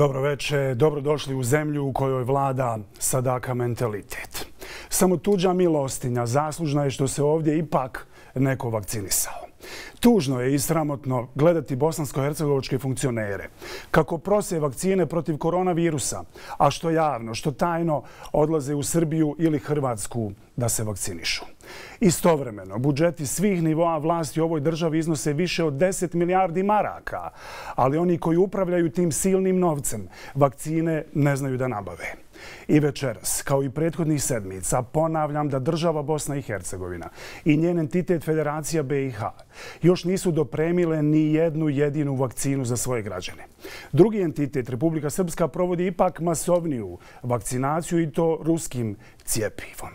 Dobro večer, dobrodošli u zemlju u kojoj vlada sadaka mentalitet. Samo tuđa milostinja zaslužna je što se ovdje ipak neko vakcinisao. Tužno je i sramotno gledati bosansko-hercegovačke funkcionere kako prose vakcine protiv koronavirusa, a što javno, što tajno odlaze u Srbiju ili Hrvatsku da se vakcinišu. Istovremeno, budžeti svih nivoa vlasti u ovoj državi iznose više od 10 milijardi maraka, ali oni koji upravljaju tim silnim novcem vakcine ne znaju da nabave. I večeras, kao i prethodnih sedmica, ponavljam da država Bosna i Hercegovina i njen entitet Federacija BiH još nisu dopremile ni jednu jedinu vakcinu za svoje građane. Drugi entitet, Republika Srpska, provodi ipak masovniju vakcinaciju i to ruskim cjepivom.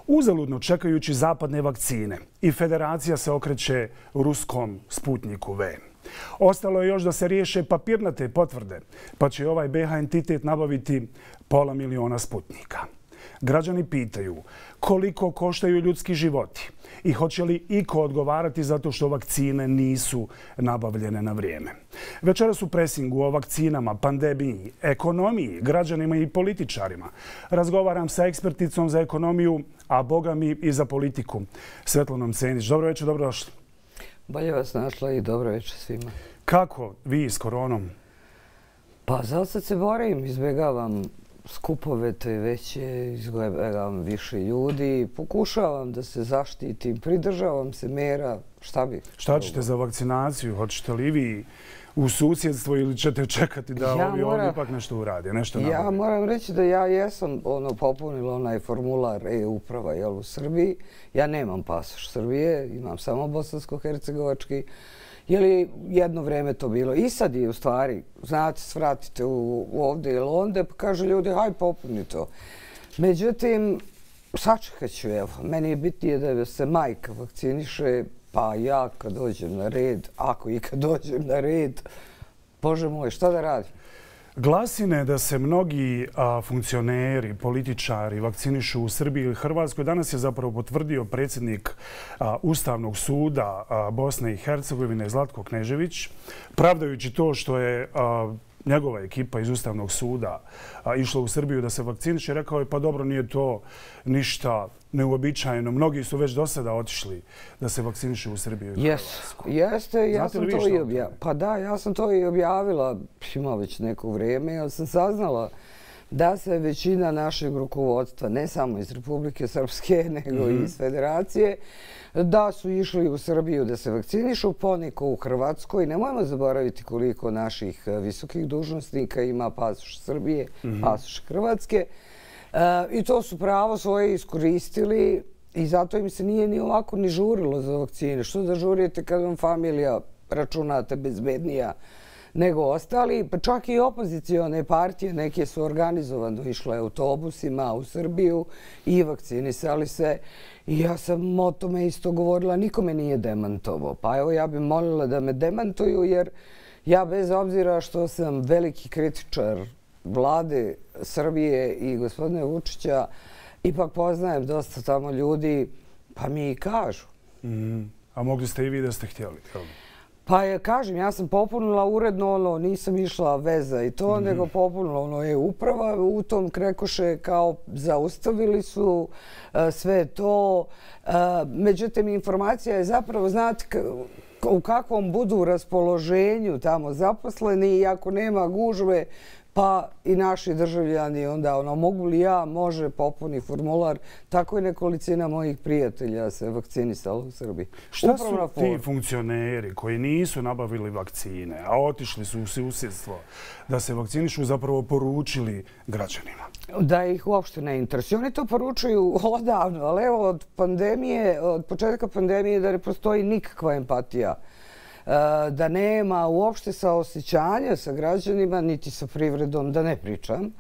Uzaludno čekajući zapadne vakcine i Federacija se okreće ruskom Sputniku V. Ostalo je još da se riješe papirnate potvrde, pa će ovaj BiH entitet nabaviti 500.000 Sputnika. Građani pitaju koliko koštaju ljudski životi i hoće li iko odgovarati zato što vakcine nisu nabavljene na vrijeme. Večeras u presingu o vakcinama, pandemiji, ekonomiji, građanima i političarima razgovaram sa eksperticom za ekonomiju, a boga mi i za politiku, Svetlanom Cenić. Dobro večer, dobrodošli. Bolje vas našla i dobro večer svima. Kako vi s koronom? Pa za sad se borim, izbjegavam skupove te veće, izbjegavam više ljudi, pokušavam da se zaštitim, pridržavam se mera, šta bi? Šta ćete za vakcinaciju? Hoćete li vi u susjedstvo ili ćete čekati da ovi ovdje ipak nešto urade, nešto nabave? Ja moram reći da ja jesam popunila onaj formular e-uprava u Srbiji. Ja nemam pasoš Srbije, imam samo bosansko-hercegovački. Je li jedno vrijeme to bilo? I sad je u stvari, znate, svratite ovdje ili onda, pa kaže ljudi, haj popuni to. Međutim, sačekat ću, evo, meni je bitnije da se majka vakciniše, pa ja kad dođem na red, ako i kad dođem na red, Bože moj, šta da radim? Glasine da se mnogi funkcioneri, političari vakcinišu u Srbiji ili Hrvatskoj danas je zapravo potvrdio predsjednik Ustavnog suda Bosne i Hercegovine Zlatko Knežević, pravdajući to što je njegova ekipa iz Ustavnog suda išla u Srbiju da se vakciniše. Rekao je pa dobro, nije to ništa neuobičajeno. Mnogi su već do sada otišli da se vakcinišu u Srbiju i Hrvatsku. Jeste, ja sam to i objavila. Pa da, ja sam to i objavila, ima već neko vrijeme, jer sam saznala da se većina našeg rukovodstva, ne samo iz Republike Srpske, nego i iz Federacije, da su išli u Srbiju da se vakcinišu, poneko u Hrvatskoj. Nemojmo zaboraviti koliko naših visokih dužnosnika ima pasoš Srbije, pasoš Hrvatske. I to su pravo svoje iskoristili i zato im se nije ni ovako ni žurilo za vakcine. Što da žurite kad vam familija računate bezbednija nego ostali? Pa čak i opozicione partije, neke su organizovano išle autobusima u Srbiju i vakcinisali se. I ja sam o tome isto govorila, nikome nije demantovao. Pa evo ja bih molila da me demantuju jer ja bez obzira što sam veliki kritičar vlade Srbije i gospodine Vučića, ipak poznajem dosta tamo ljudi, pa mi i kažu. A mogli ste i vi da ste htjeli? Pa kažem, ja sam popunila uredno nisam išla veza i to, nego popunila e-uprava. U tom krekoše kao zaustavili su sve to. Međutim, informacija je zapravo, znate, u kakvom budu raspoloženju tamo zaposleni i ako nema gužve, pa i naši državljani onda mogu li ja, može popuni formular. Tako je nekolicina mojih prijatelja se vakcinisala u Srbiji. Šta su ti funkcioneri koji nisu nabavili vakcine, a otišli su u susjedstvo da se vakcinišu, zapravo poručili građanima? Da ih uopšte ne interesuje. Oni to poručuju odavno, ali evo od početka pandemije da ne postoji nikakva empatija, da nema uopšte saosećanja sa građanima, niti sa privredom, da ne pričam.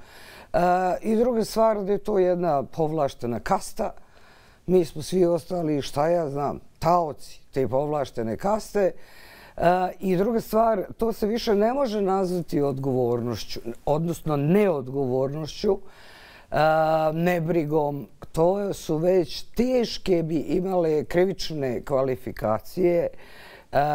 I druga stvar, da je to jedna povlaštena kasta. Mi smo svi ostali, šta ja znam, taoci te povlaštene kaste. I druga stvar, to se više ne može nazvati odgovornošću, odnosno neodgovornošću, nebrigom. To su već teške bi imale krivične kvalifikacije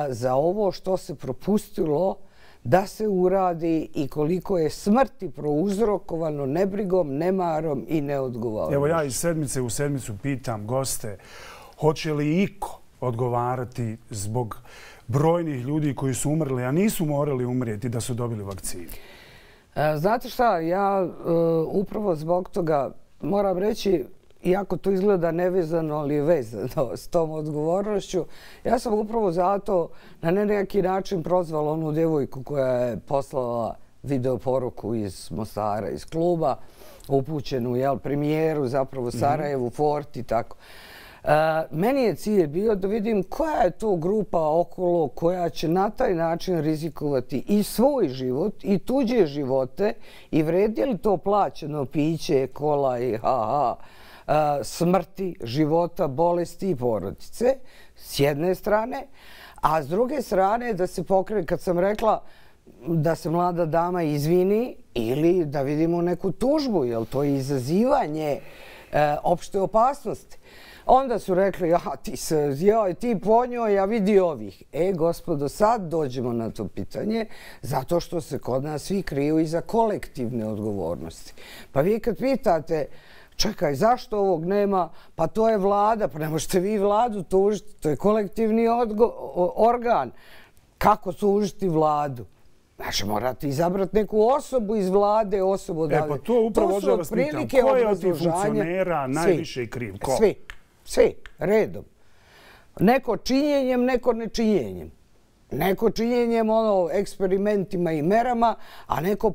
za ovo što se propustilo da se uradi i koliko je smrti prouzrokovano nebrigom, nemarom i neodgovornošću. Evo ja iz sedmice u sedmicu pitam goste, hoće li iko odgovarati zbog brojnih ljudi koji su umrli, a nisu morali umrijeti da su dobili vakcinu? Znate šta, ja upravo zbog toga moram reći, iako to izgleda nevezano, ali je vezano s tom odgovornošću, ja sam upravo zato na neki način prozvala onu djevojku koja je poslala video poruku iz Mostara, iz kluba, upućenu premijeru, zapravo Sarajevu, Forti i tako. Meni je cilj bio da vidim koja je to grupa okolo koja će na taj način rizikovati i svoj život i tuđe živote i vredi li to plaćeno piće, kola i smrti, života, bolesti i porodice s jedne strane, a s druge strane da se pokrene, kad sam rekla da se mlada dama izvini ili da vidimo neku tužbu, jer to je izazivanje opšte opasnosti. Onda su rekli, ti po njoj, ja vidi ovih. Gospodo, sad dođemo na to pitanje, zato što se kod nas svi kriju iza kolektivne odgovornosti. Pa vi kad pitate, čekaj, zašto ovog nema? Pa to je vlada, pa ne možete vi vladu tužiti, to je kolektivni organ. Kako tužiti vladu? Znači, morate izabrati neku osobu iz vlade, osobu odavde. Pa to upravo da vas pitam, ko je od tih funkcionera najviše kriv? Svi, redom. Neko činjenjem, neko nečinjenjem. Neko činjenjem, eksperimentima i merama, a neko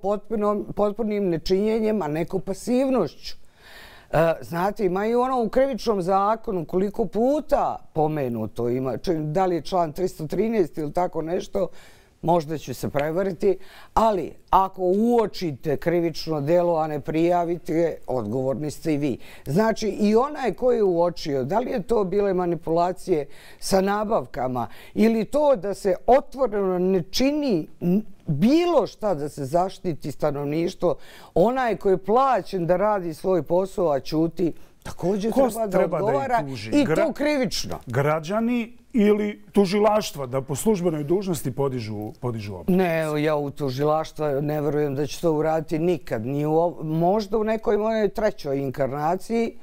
potpunim nečinjenjem, a neko pasivnošću. Znate, ima i u krivičnom zakonu koliko puta pomenuto ima, da li je član 313 ili tako nešto, možda ću se prevariti, ali ako uočite krivično delo, a ne prijavite, odgovorni ste i vi. Znači, i onaj ko je uočio, da li je to bile manipulacije sa nabavkama ili to da se otvoreno ne čini bilo šta da se zaštiti stanovništvo, onaj koji je plaćen da radi svoj posao, a ćuti, također treba da odgovara i to krivično. Građani ili tužilaštva da po službenoj dužnosti podižu optužnicu? Ne, ja u tužilaštva ne verujem da će to uraditi nikad. Možda u nekoj mojoj trećoj inkarnaciji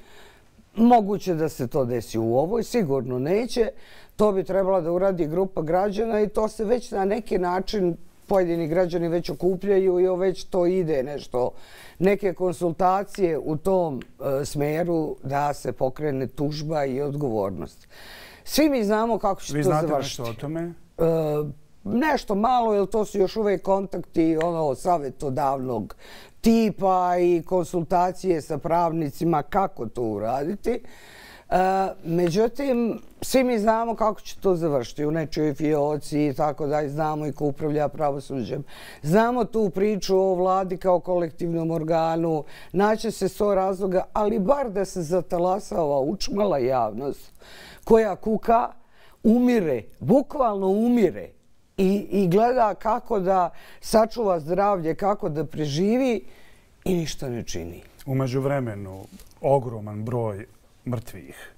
moguće da se to desi, u ovoj sigurno neće. To bi trebala da uradi grupa građana i to se već na neki način pojedini građani već okupljaju i već to ide nešto, neke konsultacije u tom smeru da se pokrene tužba i odgovornost. Svi mi znamo kako će to završiti. Vi znate nešto o tome? Nešto malo, jer to su još uvijek kontakti savjetodavnog tipa i konsultacije sa pravnicima kako to uraditi. Međutim, svi mi znamo kako će to završiti u nečoj fioci i tako da znamo i ko upravlja pravosuđem. Znamo tu priču o vladi kao kolektivnom organu, naće se 100 razloga, ali bar da se zatalasava učmala javnost koja kuka, umire, bukvalno umire i gleda kako da sačuva zdravlje, kako da preživi i ništa ne čini. U međuvremenu ogroman broj mrtvih.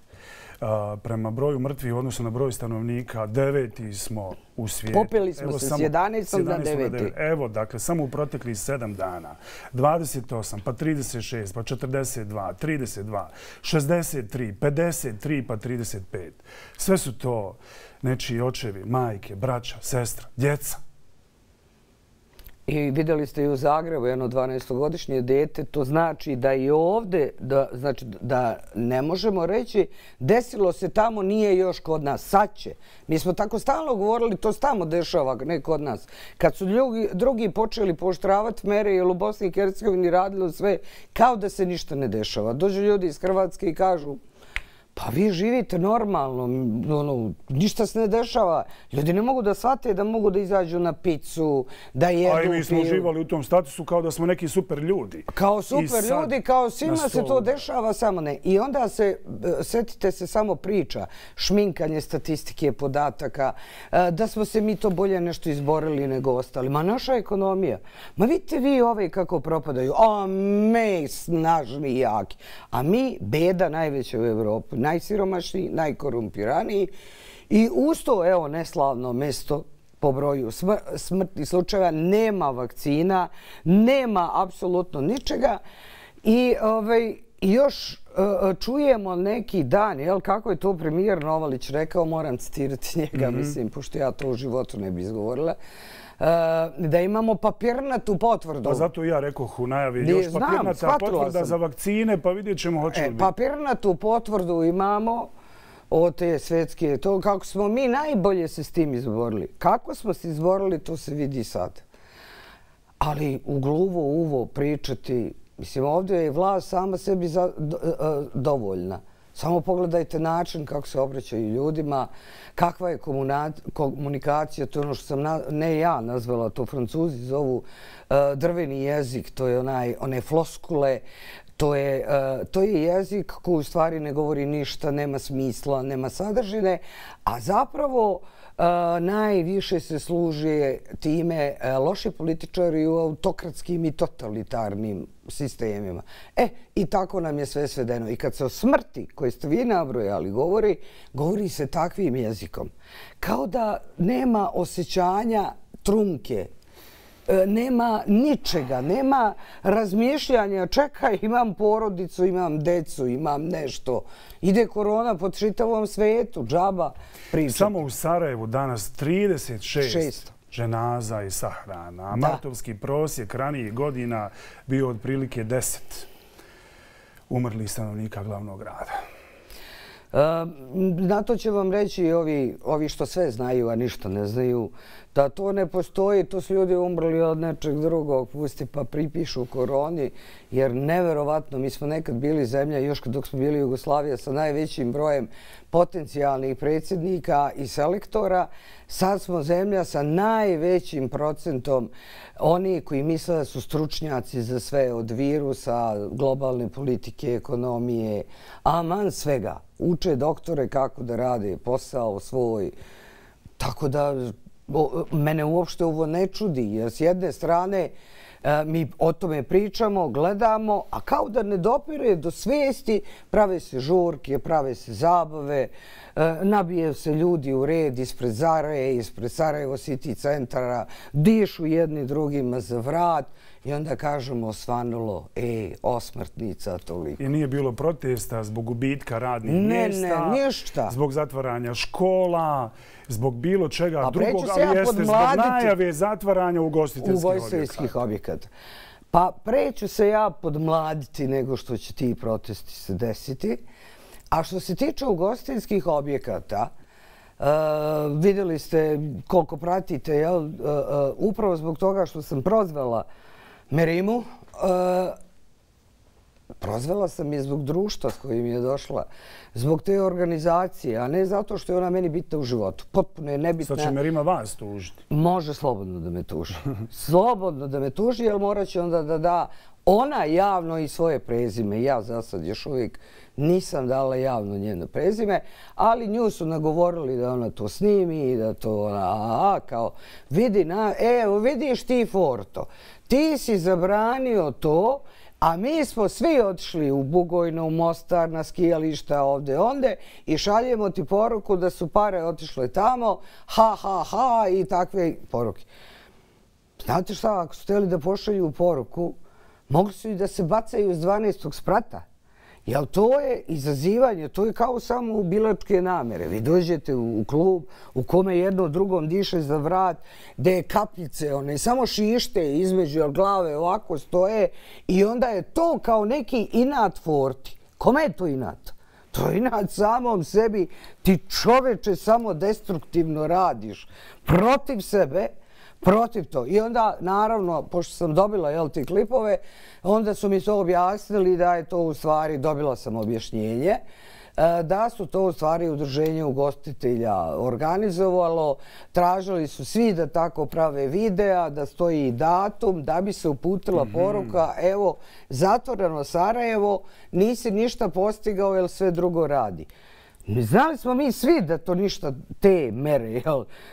Prema broju mrtvih u odnosu na broj stanovnika 9. smo u svijetu. Popeli smo se s 11. na 9. Evo, dakle, samo u proteklih 7 dana. 28, pa 36, pa 42, 32, 63, 53, pa 35. Sve su to nečiji očevi, majke, braća, sestra, djeca. I vidjeli ste i u Zagrebu jedno 12-godišnje dete, to znači da i ovdje, znači da ne možemo reći desilo se tamo, nije još kod nas, sad će. Mi smo tako stalno govorili, to se tamo dešava, ne kod nas. Kad su drugi počeli pooštravati mere, jer u Bosni i Hercegovini radilo sve kao da se ništa ne dešava. Dođu ljudi iz Hrvatske i kažu, pa vi živite normalno, ništa se ne dešava. Ljudi ne mogu da shvate da mogu da izađu na picu, da jedu. A i mi smo uživali u tom statusu kao da smo neki super ljudi. Kao super ljudi, kao svima se to dešava, samo ne. I onda se, setite se samo priča, šminkanje statistike, podataka, da smo se mi to bolje nešto izborili nego ostali. Ma naša ekonomija. Ma vidite vi ove kako propadaju. A mi snažni i jaki. A mi beda najveća u Evropi. Najsiromašniji, najkorumpiraniji i uz to, evo, neslavno mesto po broju smrtnih slučajeva, nema vakcina, nema apsolutno ničega i još čujemo neki dan, kako je to premijer Novalić rekao, moram citirati njega, mislim, pošto ja to u životu ne bi izgovorila, da imamo papirnatu potvrdu. Pa zato ja rekoh u najavi još papirnata potvrda za vakcine, pa vidjet ćemo hoće li biti. Papirnatu potvrdu imamo od te svetske, to kako smo mi najbolje se s tim izborili. Kako smo se izborili, to se vidi sad. Ali u gluvo uvo pričati, mislim, ovdje je vlast sama sebi dovoljna. Samo pogledajte način kako se obraćaju ljudima, kakva je komunikacija, to je ono što sam, ne ja nazvala, to Francuzi zovu drveni jezik, to je one floskule, to je jezik koji u stvari ne govori ništa, nema smisla, nema sadržine, a zapravo najviše se služi time loši političari u autokratskim i totalitarnim sistemima. I tako nam je sve svedeno. I kad se o smrti, koje ste vi nabrojali, govori se takvim jezikom. Kao da nema osjećanja trunke, nema ničega, nema razmišljanja, čekaj, imam porodicu, imam decu, imam nešto. Ide korona po čitavom svetu, džaba pričati. Samo u Sarajevu danas 36 ženaza i sahrana, a martovski prosjek ranijih godina bio otprilike 10 umrlih stanovnika glavnog grada. Na to će vam reći ovi što sve znaju, a ništa ne znaju, da to ne postoji, to su ljudi umrli od nečeg drugog, pusti pa pripišu koroni, jer neverovatno, mi smo nekad bili zemlja, još dok smo bili Jugoslavija, sa najvećim brojem potencijalnih predsjednika i selektora, sad smo zemlja sa najvećim procentom oni koji misle da su stručnjaci za sve, od virusa, globalne politike, ekonomije, aman svega. Uče doktore kako da rade posao svoj. Tako da mene uopšte ovo ne čudi, jer s jedne strane mi o tome pričamo, gledamo, a kao da ne dopire do svijesti, prave se žurke, prave se zabave, nabije se ljudi u red ispred Zare, ispred Sarajevo City centara, dišu jedni drugima za vrat i onda kažemo osvanulo, osmrtnica toliko. I nije bilo protesta zbog gubitka radnih mjesta, ništa. Zbog zatvaranja škola, zbog bilo čega drugog, ali jeste zbog najave zatvaranja ugostiteljskih objekata. Pa preću se ja podmladiti nego što će ti protesti se desiti. A što se tiče ugostiteljskih objekata, vidjeli ste koliko pratite, upravo zbog toga što sam prozvala Merimu, prozvala sam je zbog društva s kojim je došla, zbog te organizacije, a ne zato što je ona meni bitna u životu. Potpuno je nebitna. Sad će Merima vas tužiti. Može slobodno da me tuži. Slobodno da me tuži, jer morat će onda da da ona javno i svoje prezime. Ja za sad još uvijek nisam dala javno njeno prezime, ali nju su nagovorili da ona to snimi i da to ona, kao, evo vidiš ti Forto, ti si zabranio to, a mi smo svi otišli u Bugojno, u Mostar, na skijališta ovdje onde i šaljemo ti poruku da su pare otišle tamo, ha, ha, ha i takve poruke. Znate šta, ako su htjeli da pošalju poruku, mogli su i da se bacaju s 12. sprata. Jer to je izazivanje, to je kao samo ubilačke namjere. Vi dođete u klub u kome jedno drugom diše za vrat, gdje je kapljice, one samo šište između glave ovako stoje i onda je to kao neki inat Forti. Kome je to inat? To je inat samom sebi. Ti čoveče samo destruktivno radiš protiv sebe, protiv to. I onda, naravno, pošto sam dobila te klipove, onda su mi to objasnili da je to u stvari, dobila sam objašnjenje, da su to u stvari udruženje ugostitelja organizovalo. Tražili su svi da tako prave videa, da stoji datum, da bi se uputila poruka, evo, zatvoreno Sarajevo, nisi ništa postigao jer sve drugo radi. Znali smo mi svi da to ništa te mere,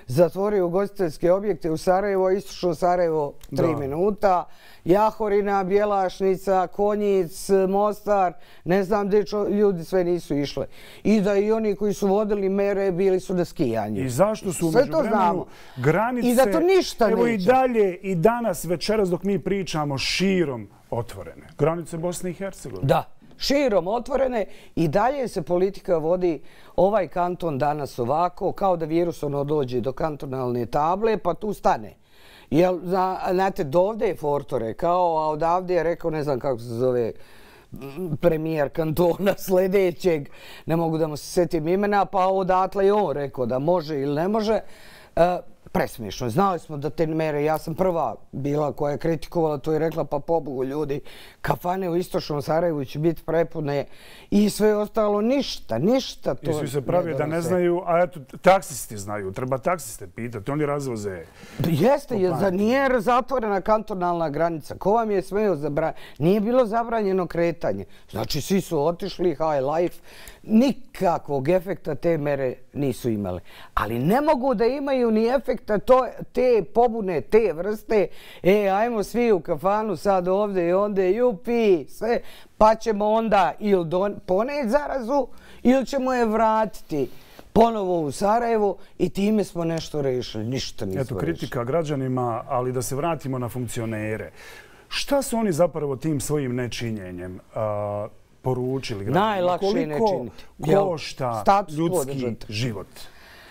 zatvorio ugostiteljske objekte u Sarajevo, istušao Sarajevo 3 minuta, Jahorina, Bjelašnica, Konjic, Mostar, ne znam gdje ljudi sve nisu išle. I da i oni koji su vodili mere bili su na skijanju. I zašto su u međuvremenu granice, i da to ništa evo neće. I dalje, i danas, večeras dok mi pričamo, širom otvorene. Granice Bosne i Hercegovine. Da. Širom otvorene i dalje se politika vodi ovaj kanton danas ovako, kao da virus dođe do kantonalne table pa tu stane. Jer, znate, dovde je Forto rekao, a odavde je rekao, ne znam kako se zove premijer kantona sljedećeg, ne mogu da mu se sjetim imena, pa odatle je on rekao da može ili ne može. Presmiješno. Znali smo da te mere, ja sam prva bila koja je kritikovala to i rekla pa pobogu ljudi, kafane u istočnom Sarajevu će biti prepune i sve ostalo ništa. I svi se pravi da ne znaju, a eto, taksisti znaju, treba taksiste pitati, oni razvoze. Jeste, jer nije zatvorena kantonalna granica. Ko vam je smeo zabraniti? Nije bilo zabranjeno kretanje. Znači, svi su otišli, high life, nikakvog efekta te mere nisu imale. Ali ne mogu da imaju ni efekta te pobune, te vrste. Ajmo svi u kafanu sad ovdje i ondje, jupi, sve, pa ćemo onda ili poneti zarazu ili ćemo je vratiti ponovo u Sarajevo i time smo nešto rešili. Ništa nismo rešili. Eto, kritika građanima, ali da se vratimo na funkcionere. Šta su oni zapravo tim svojim nečinjenjem poručili građanima? Najlakše ne činiti. Koliko košta ljudski život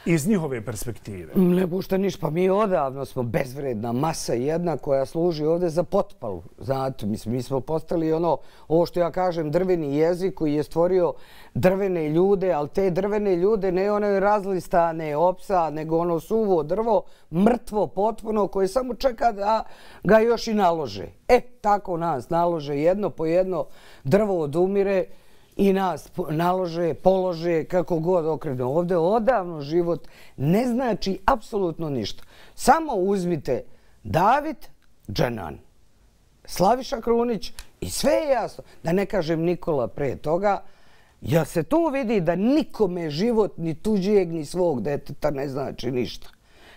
iz njihove perspektive? Ne pušta ništa. Pa mi odavno smo bezvredna masa jedna koja služi ovdje za potpalu. Znate, mi smo postali ovo što ja kažem, drveni jezik koji je stvorio drvene ljude, ali te drvene ljude ne ono razlistane opsa, nego ono suvo drvo, mrtvo potpuno, koje samo čeka da ga još i nalože. Tako nas nalože jedno po jedno drvo odumire i nas nalože, polože, kako god okrenu. Ovdje odavno život ne znači apsolutno ništa. Samo uzmite David Dženan, Slaviša Krunić i sve je jasno. Da ne kažem Nikola pre toga, jer se tu vidi da nikome život ni tuđijeg ni svog deteta ne znači ništa.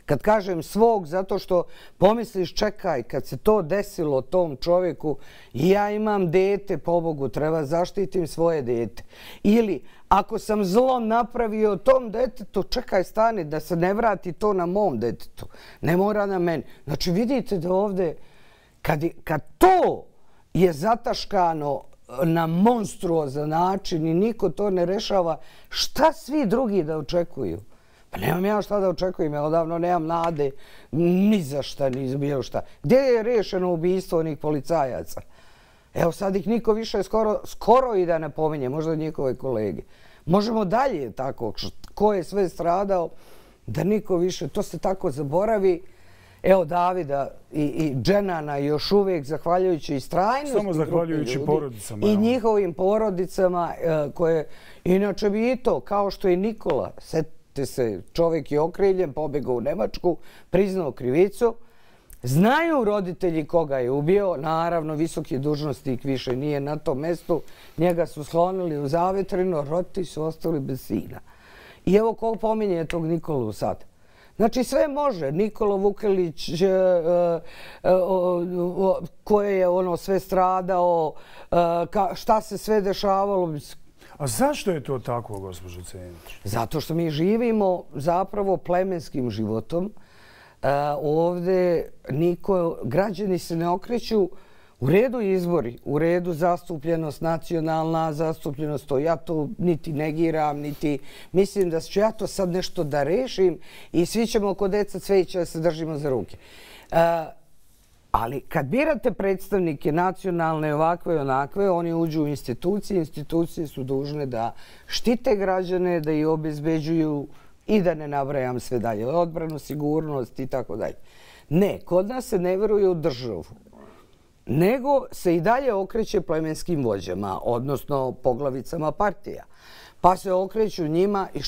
Kad kažem svog, zato što pomisliš, čekaj, kad se to desilo tom čovjeku, ja imam dete, pobogu, treba zaštitim svoje dete. Ili, ako sam zlo napravio tom detetu, čekaj, stani, da se ne vrati to na mom detetu. Ne mora na meni. Znači, vidite da ovdje, kad to je zataškano na monstruozan način i niko to ne rešava, šta svi drugi da očekuju? Pa nemam ja šta da očekujem, ja odavno nemam nade ni za šta, ni za bilo šta. Gdje je rešeno ubijstvo onih policajaca? Evo sad ih niko više skoro i da ne pominje, možda njihove kolege. Možemo dalje tako, ko je sve stradao, da niko više, to se tako zaboravi. Evo Davida i Dženana još uvijek, zahvaljujući istrajnosti samo zahvaljujući porodicama. I njihovim porodicama koje, inače bi i to, kao što i Nikola, se čovjek je okriljen, pobjegao u Nemačku, priznao krivicu. Znaju roditelji koga je ubio, naravno visoki dužnosnik više nije na tom mjestu, njega su sklonili u zavetrino, roditelji su ostali bez sina. I evo ko pominje tog Nikolu sad. Znači sve može. Nikola Vukelić koje je sve stradao, šta se sve dešavalo. A zašto je to tako, gospođo Cenić? Zato što mi živimo zapravo plemenskim životom. Ovdje građani se ne okreću u redu izbori, u redu zastupljenost, nacionalna zastupljenost. Ja to niti negiram, niti mislim da ću ja to sad nešto da rešim i svi ćemo kod deca cveća da se držimo za ruke. Ali kad birate predstavnike nacionalne ovakve i onakve, oni uđu u institucije. Institucije su dužne da štite građane, da ih obezbeđuju i da ne nabrajam sve dalje. Odbranu, sigurnost i tako dalje. Ne, kod nas se ne veruje u državu, nego se i dalje okreće plemenskim vođama, odnosno poglavicama partija. Pa se okreću njima i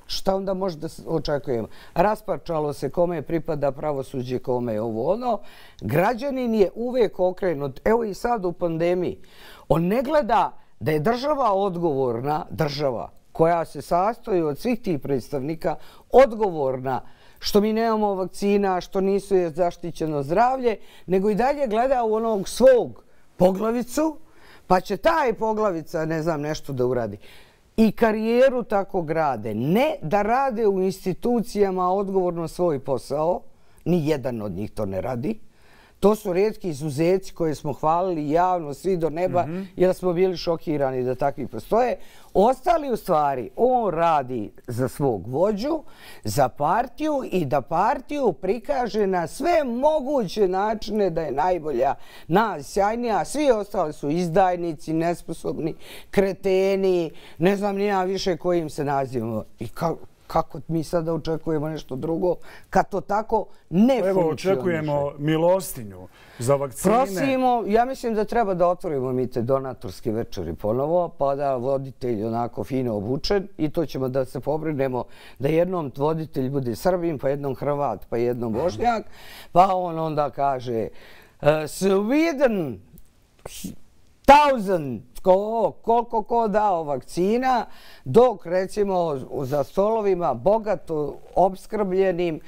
šta onda može da očekujemo? Rasparčalo se kome pripada pravosuđe, kome je ovo ono. Građanin je uvijek okrenut. Evo i sad u pandemiji. On ne gleda da je država odgovorna, država koja se sastoji od svih tih predstavnika, odgovorna što mi nemamo vakcina, što nisu je zaštićeno zdravlje, nego i dalje gleda u onog svog poglavicu, pa će taj poglavica, ne znam, nešto da uradi. I karijeru tako grade. Ne da rade u institucijama odgovorno svoj posao, ni jedan od njih to ne radi. To su rijetki izuzeci koje smo hvalili javno, svi do neba, jer smo bili šokirani da takvi postoje. Ostali u stvari, on radi za svog vođu, za partiju i da partiju prikaže na sve moguće načine da je najbolja, najsjajnija. Svi ostali su izdajnici, nesposobni, kreteni, ne znam ni ja više kojim se nazivamo. I kako mi sada očekujemo nešto drugo kad to tako ne funkcioniše? Evo, očekujemo milostinju za vakcine. Prosimo, ja mislim da treba da otvorimo mi te donatorske večeri ponovo, pa da voditelj onako fino obučen i to ćemo da se pobrinemo da jednom voditelj bude Srbin, pa jednom Hrvat, pa jednom Bošnjak, pa on onda kaže Sweden 1000 koliko ko dao vakcina, dok recimo za stolovima bogato obskrbljenim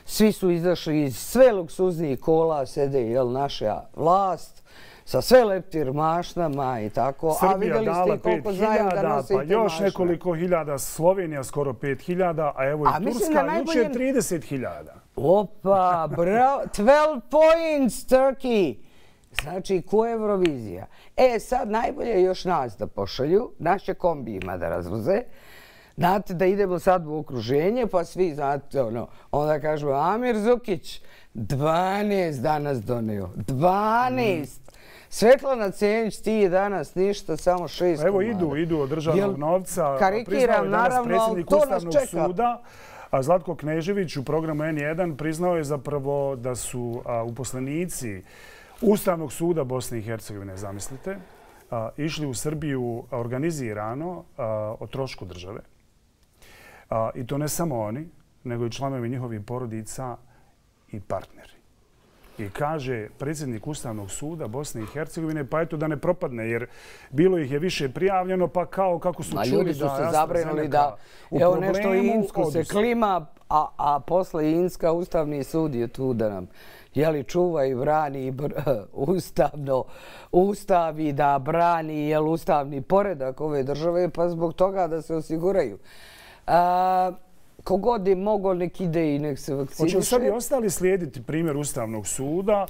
svi su izašli iz sve luksuznijih kola, sede naša vlast sa sve leptir mašnama i tako. Srbija dala 5.000, pa još nekoliko hiljada, Slovenija skoro 5.000, a evo i Turska jučer 30.000. Opa, bravo, 12 points Turkey. Znači, ko je Eurovizija? Sad najbolje još nas da pošalju, naše kombijima da razvoze. Znate da idemo sad u okruženje, pa svi, znate, onda kažemo Amir Zukić, 12 danas doneo. 12! Svetlana Cenić, ti je danas ništa, samo 6 komada. Evo idu od državnog novca. Karikiram, naravno, to nas čeka. Suda, Zlatko Knežević u programu N1 priznao je zapravo da su uposlenici Ustavnog suda Bosne i Hercegovine, zamislite, išli u Srbiju organizirano o trošku države. I to ne samo oni, nego i članovi njihovih porodica i partneri. I kaže predsjednik Ustavnog suda Bosne i Hercegovine, pa eto da ne propadne, jer bilo ih je više prijavljeno, pa kao kako su čuli da... Ljudi su se zabrinuli da evo nešto Insko se klima, a posle Inska Ustavni sud je tu da nam čuva i brani ustavi, da brani ustavni poredak ove države, pa zbog toga da se osiguraju. Kogod je mogo, nek ide i nek se vakciniše. Hoće sad i ostali slijediti primjer Ustavnog suda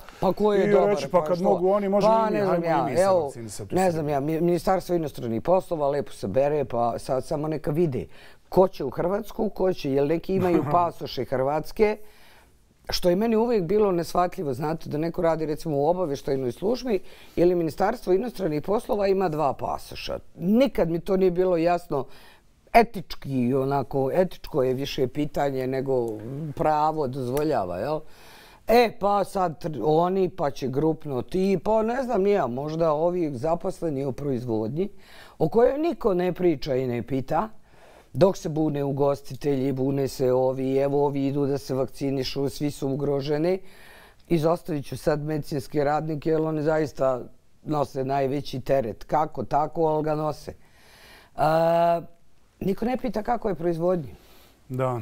i reći pa kad mogu oni, možemo i mi, hajmo i mi se vakcinisati. Ne znam ja, Ministarstvo inostranih poslova lepo se bere, pa sad samo neka vide ko će u Hrvatsku, ko će, jer neki imaju pasoše Hrvatske, što je meni uvijek bilo neshvatljivo, znate, da neko radi recimo u obavještajnoj službi ili Ministarstvo inostranih poslova ima 2 pasoša. Nikad mi to nije bilo jasno. Etički, onako, etičko je više pitanje nego pravo dozvoljava, jel? Pa sad oni, pa će grupno ti, pa ne znam nija, možda ovi zaposleni u proizvodnji, o kojoj niko ne priča i ne pita, dok se bune ugostitelji, bune se ovi, evo ovi idu da se vakcinišu, svi su ugroženi. Izostavit ću sad medicinske radnike, jer oni zaista nose najveći teret. Kako, tako, ali ga nose. Niko ne pita kako je proizvodnji. Da.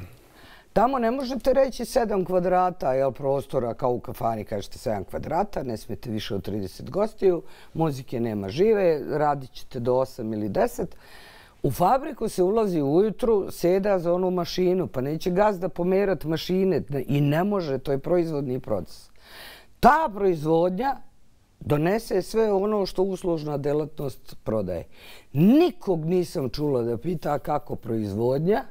Tamo ne možete reći 7 kvadrata prostora, kao u kafani kažete 7 kvadrata, ne smijete više od 30 gostiju, muzike nema žive, radit ćete do 8 ili 10. U fabriku se ulazi ujutru, seda za onu mašinu, pa neće gazda pomerati mašine i ne može, to je proizvodni proces. Ta proizvodnja donese sve ono što uslužna delatnost prodaje. Nikog nisam čula da pita kako proizvodnja,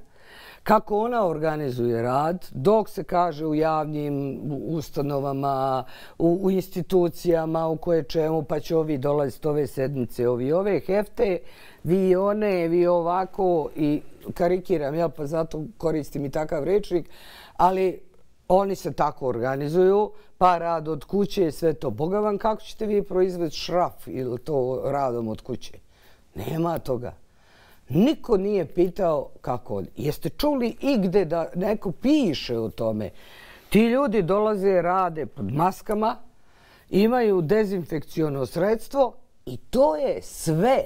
kako ona organizuje rad, dok se kaže u javnim ustanovama, u institucijama, u koje čemu, pa će ovi dolaziti ove sedmice, ovi ove hefte, vi one, vi ovako, i karikiram, pa zato koristim i takav rečnik, ali oni se tako organizuju, pa rad od kuće, sve to. Boga vam, kako ćete vi proizvesti šraf ili to radom od kuće? Nema toga. Niko nije pitao kako. Jeste čuli igde da neko piše o tome? Ti ljudi dolaze, rade pod maskama, imaju dezinfekciono sredstvo i to je sve.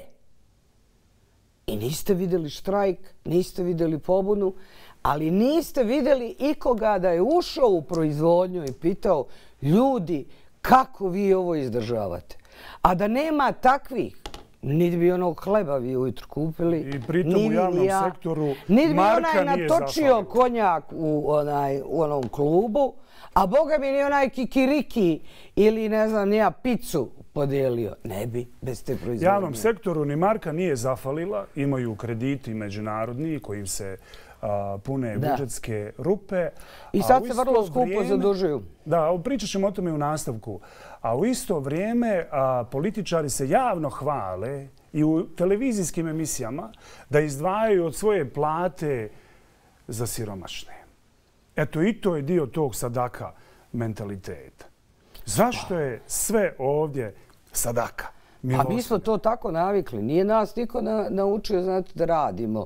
I niste vidjeli štrajk, niste vidjeli pobunu, ali niste vidjeli ikoga da je ušao u proizvodnju i pitao ljudi kako vi ovo izdržavate. A da nema takvih, niti bi onog hleba vi ujutru kupili. I pritom u javnom sektoru niti bi marka onaj nije natočio konjak u onom klubu, a boga mi ni onaj kikiriki ili ne znam nija picu podijelio. Ne bi bez te proizvodnje. Javnom sektoru ni marka nije zafalila. Imaju krediti međunarodni kojim se pune budžetske rupe. I sad se vrlo skupo zadužuju. Da, pričat ćemo o tome u nastavku. A u isto vrijeme političari se javno hvale i u televizijskim emisijama da izdvajaju od svoje plate za siromašne. Eto, i to je dio tog sadaka mentaliteta. Zašto je sve ovdje sadaka? Pa mi smo to tako navikli. Nije nas niko naučio, znate, da radimo.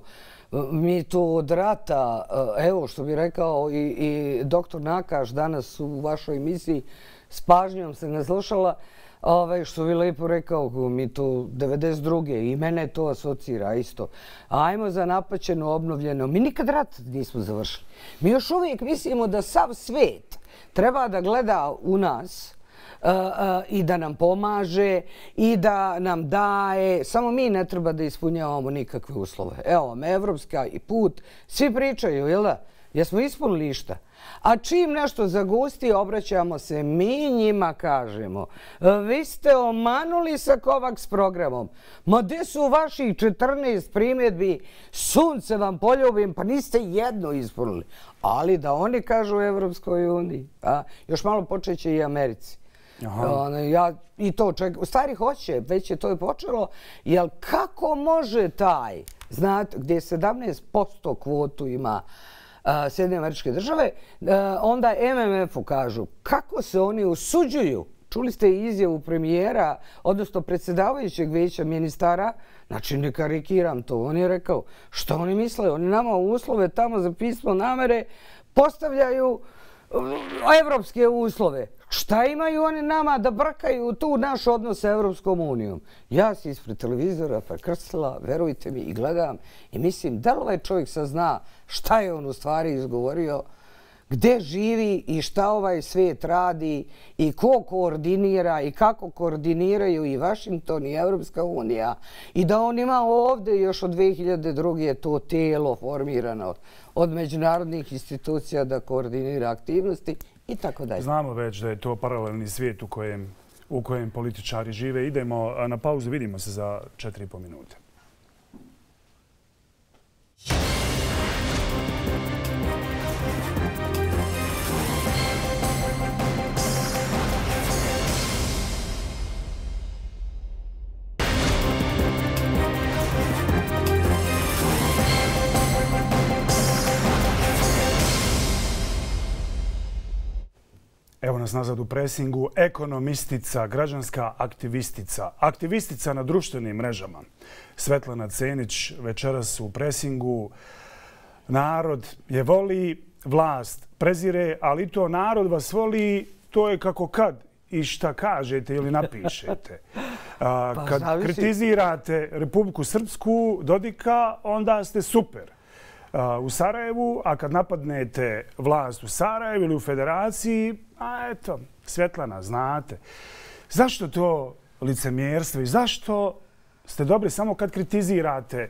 Mi to od rata, evo što bi rekao i doktor Nakaš danas u vašoj emisiji, s pažnjom se naslušala, što bi lepo rekao, mi to 92. i mene to asocira isto. Ajmo za napaćeno, obnovljeno. Mi nikad rat nismo završili. Mi još uvijek mislimo da sav svijet treba da gleda u nas i da nam pomaže i da nam daje. Samo mi ne treba da ispunjavamo nikakve uslove. Evo vam, evropska i put. Svi pričaju, jel da? Jesmo ispunili išta? A čim nešto zagusti, obraćamo se, mi njima kažemo. Vi ste omanuli sa Kovaks programom. Ma gdje su vaših 14 primjedbi? Sunce vam poljubim, pa niste jedno ispunili. Ali da oni kažu u Evropskoj uniji. Još malo počeće i Americi. I to čekam. U stvari hoće, već je to i počelo. Jer kako može taj, znate, gdje 17% kvotu ima Sjedinjene Američke Države, onda MMF-u kažu kako se oni usuđuju. Čuli ste izjavu premijera, odnosno predsjedavajućeg vijeća ministara, znači ne karikiram to, on je rekao što oni misle, oni nama u uslove tamo za pismo namere postavljaju evropske uslove. Šta imaju oni nama da brkaju tu naš odnos sa Evropskom unijom? Ja se ispred televizora prekrstila, verujte mi, i gledam i mislim da li ovaj čovjek sad zna šta je on u stvari izgovorio, gdje živi i šta ovaj svijet radi i ko koordinira i kako koordiniraju i Washington i Evropska unija i da on ima ovdje još od 2002. to tijelo formirano od međunarodnih institucija da koordinira aktivnosti i tako dalje. Znamo već da je to paralelni svijet u kojem političari žive. Idemo na pauzu, vidimo se za 4,5 minute. Evo nas nazad u presingu. Ekonomistica, građanska aktivistica, aktivistica na društvenim mrežama. Svetlana Cenić večeras u presingu. Narod je voli, vlast prezire, ali to narod vas voli, to je kako kad i šta kažete ili napišete. Kad kritizirate Republiku Srpsku, Dodika, onda ste super u Sarajevu, a kad napadnete vlast u Sarajevu ili u Federaciji, a eto, Svetlana, znate. Zašto to licemjerstvo i zašto ste dobri samo kad kritizirate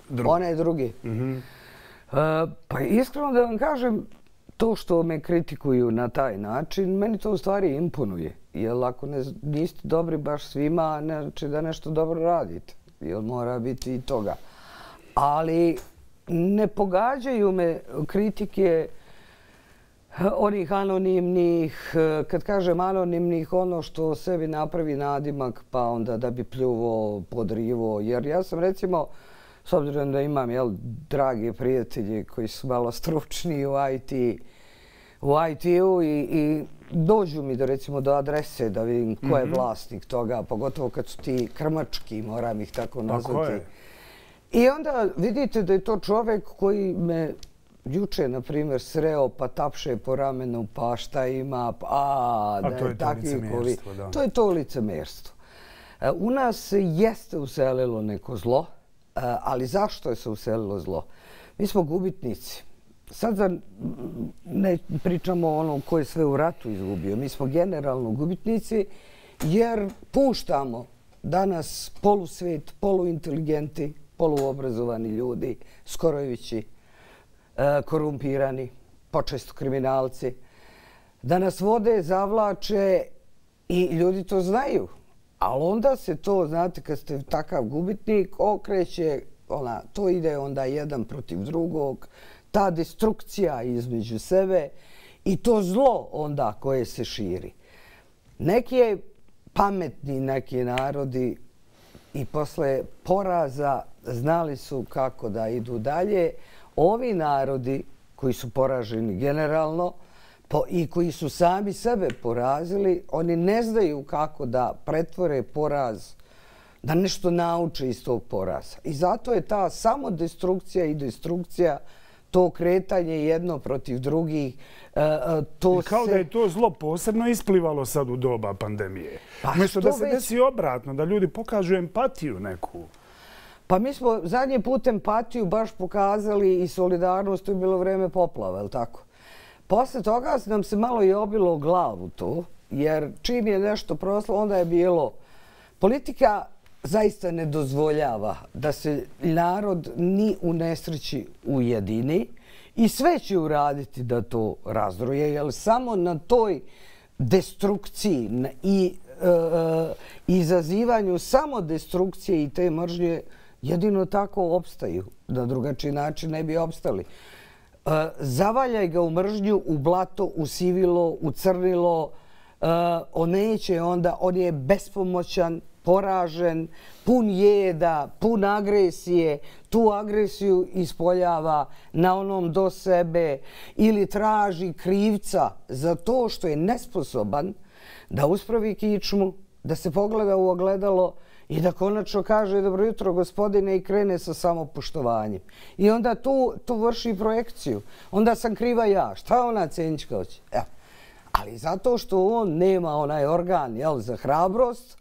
drugi? One drugi. Pa iskreno da vam kažem, to što me kritikuju na taj način, meni to u stvari imponuje. Jer ako niste dobri baš svima, znači da nešto dobro radite. Jer mora biti i toga. Ali ne pogađaju me kritike onih anonimnih, kad kažem anonimnih, ono što sebi napravi nadimak pa onda da bi pljuvo, podrivo. Jer ja sam recimo, s obzirom da imam drage prijatelje koji su malo stručni u IT-u i dođu mi recimo do adrese da vidim ko je vlasnik toga, pogotovo kad su ti krmački, moram ih tako nazvati. I onda vidite da je to čovjek koji me juče, na primjer, sreo pa tapše po ramenu, pa šta ima, da je takvi licemjerstvo, da. To je to licemjerstvo. U nas se jeste uselilo neko zlo, Ali zašto je se uselilo zlo? Mi smo gubitnici. Sad ne pričamo o onom ko je sve u ratu izgubio. Mi smo generalno gubitnici jer puštamo danas polusvet, poluinteligenti, poluobrazovani ljudi, skorojevići, korumpirani, počesto kriminalci, da nas vode, zavlače i ljudi to znaju. Ali onda se to, znate, kad ste takav gubitnik, okreće, to ide onda jedan protiv drugog, ta destrukcija između sebe i to zlo onda koje se širi. Neki pametni neki narodi i posle poraza znali su kako da idu dalje. Ovi narodi koji su poraženi generalno i koji su sami sebe porazili, oni ne znaju kako da pretvore poraz, da nešto nauče iz tog poraza. I zato je ta samodestrukcija i destrukcija, to kretanje jedno protiv drugih, I kao da je to zlo posebno isplivalo sad u doba pandemije. Umjesto da se desi obratno, da ljudi pokažu empatiju neku. Pa mi smo zadnji put empatiju baš pokazali i solidarnost, to je bilo vreme poplava, je li tako? Posle toga nam se malo i obilo u glavu to, jer čim je nešto proslo, onda je bilo... Politika zaista ne dozvoljava da se narod ni u nesreći ujedini i sve će uraditi da to razdroje, jer samo na toj destrukciji i izazivanju samo destrukcije i te mržnje jedino tako opstaju. Na drugačiji način ne bi opstali. Zavaljaj ga u mržnju, u blato, u sivilo, u crnilo. On neće onda, on je bespomoćan, poražen, pun jeda, pun agresije. Tu agresiju ispoljava na onom do sebe ili traži krivca za to što je nesposoban da uspravi kičmu, da se pogleda u ogledalo i da konačno kaže dobro jutro gospodine i krene sa samopoštovanjem. I onda tu vrši projekciju. Onda sam kriva ja. Šta ona Cenićka hoće? Ali zato što on nema onaj organ za hrabrost,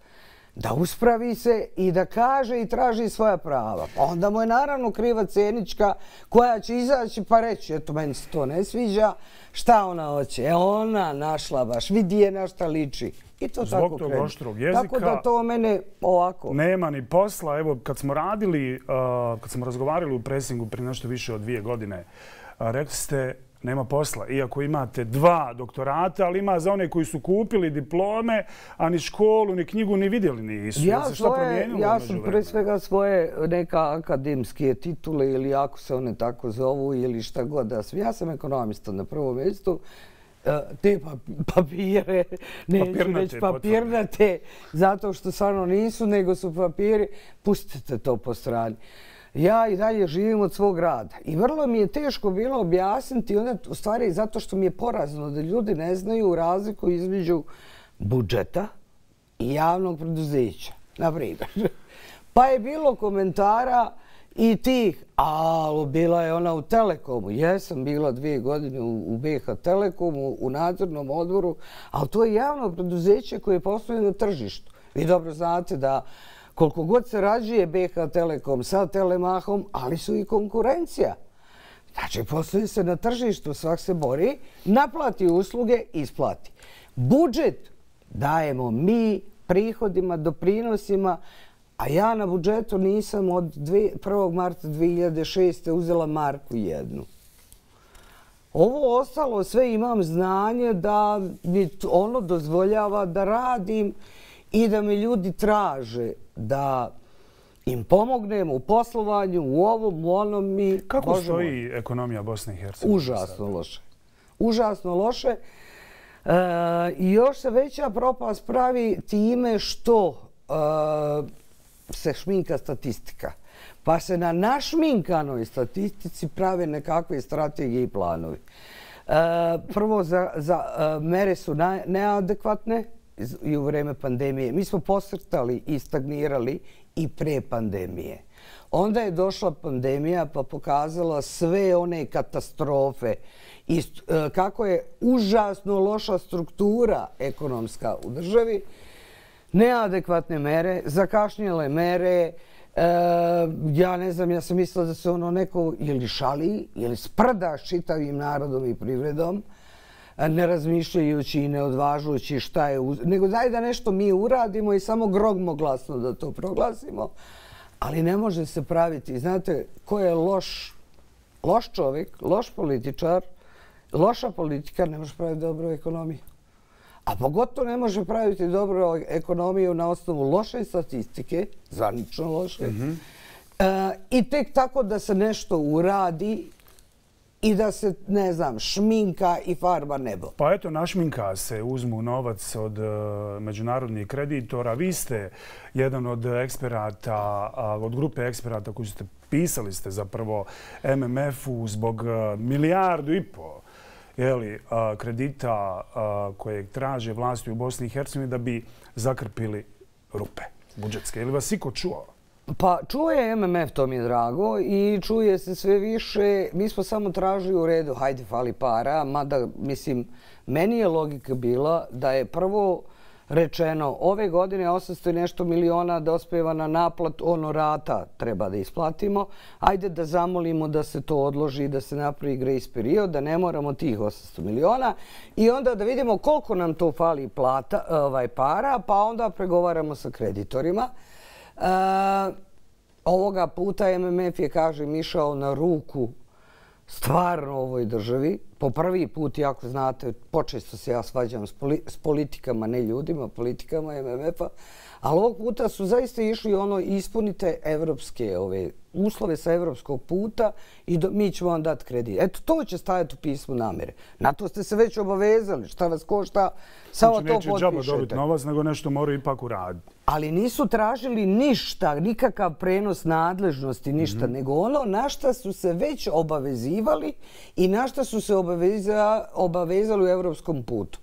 da uspravi se i da kaže i traži svoja prava. Onda mu je naravno kriva Cenićka koja će izaći pa reći eto meni se to ne sviđa, šta ona hoće? Ona našla baš, vidi je na šta liči. I to tako Zbog tog oštrog jezika tako da to mene ovako... Nema ni posla. Evo, kad smo radili, kad smo razgovarali u presingu prije nešto više od 2 godine, rekli ste nema posla. Iako imate 2 doktorata, ali ima za one koji su kupili diplome, a ni školu, ni knjigu ni vidjeli nisu. Ja sam pre svega svoje neka akademske titule ili ako se one tako zovu ili šta god da sam. Ja sam ekonomista na prvom mjestu. Te papire, neću reći papirnate, zato što stvarno nisu, nego su papiri, pustite to po strani. Ja i dalje živim od svog rada i vrlo mi je teško bilo objasniti, onda u stvari zato što mi je porazno da ljudi ne znaju razliku između budžeta i javnog preduzeća, na primjer. Pa je bilo komentara i tih, ali bila je ona u Telekomu. Jesam bila 2 godine u BiH Telekomu, u nadzornom odboru, ali to je javno preduzeće koje posluje na tržištu. Vi dobro znate da koliko god se rađuje BiH Telekom sa Telemahom, ali su i konkurencija. Znači, posluje se na tržištu, svak se bori, naplati usluge, isplati. Budžet dajemo mi prihodima, doprinosima, a ja na budžetu nisam od 1. marta 2006. uzela marku jednu. Ovo ostalo sve imam znanje da mi ono dozvoljava da radim i da mi ljudi traže da im pomognem u poslovanju, u ovom, u onom mi... Kako stoji ekonomija Bosne i Hercegovine? Užasno loše. Užasno loše. I još se veća propast pravi time što se šminka statistika. Pa se na našminkanoj statistici prave nekakve strategije i planovi. Prvo, mere su neadekvatne i u vreme pandemije. Mi smo posrtali i stagnirali i pre pandemije. Onda je došla pandemija pa pokazala sve one katastrofe i kako je užasno loša struktura ekonomska u državi, neadekvatne mere, zakašnjele mere, Ja ne znam, ja sam mislila da se ono neko ili šali, ili sprda s čitavim narodom i privredom, ne razmišljajući i ne odvažujući šta je, nego daj da nešto mi uradimo i samo gromoglasno da to proglasimo, ali ne može se praviti. Znate, ko je loš čovjek, loš političar, loša politika, ne može praviti dobru ekonomiju. A pogotovo ne može praviti dobru ekonomiju na osnovu loše statistike, zvanično loše, i tek tako da se nešto uradi i da se, ne znam, šminka i farba nebo. Pa eto, našminka se, uzmu novac od međunarodnih kreditora. Vi ste jedan od eksperata, od grupe eksperata koji ste pisali ste zapravo MMF-u zbog 1,5 milijardu kredita koje traže vlasti u Bosni i Hercegovini da bi zakrpili rupe budžetske. Je li vas iko čuo? Pa čuje MMF, to mi je drago, i čuje se sve više. Mi smo samo tražili u redu, hajde, fali para, mada, mislim, meni je logika bila da je prvo rečeno ove godine 800 i nešto miliona dospeva na naplat honorata treba da isplatimo. Ajde da zamolimo da se to odloži, da se napravi grace period, da ne moramo tih 800 miliona i onda da vidimo koliko nam to fali para, pa onda pregovaramo sa kreditorima. Ovoga puta MMF je, kažem, išao na ruku stvarno ovoj državi. Po prvi put, jako znate, počesto se ja svađam s politikama, ne ljudima, politikama MMF-a, ali ovog puta su zaista išli ono, ispunite evropske uslove sa evropskog puta i mi ćemo vam dati kredit. Eto, to će stajati u pismu namjere. Na to ste se već obavezali. Šta vas košta, samo to potpišete. Znači, neće džaba dobiti novac, nego nešto moraju ipak uraditi. Ali nisu tražili ništa, nikakav prenos nadležnosti, ništa, nego ono na šta su se već obavezivali i na šta su se obavezali u evropskom putu.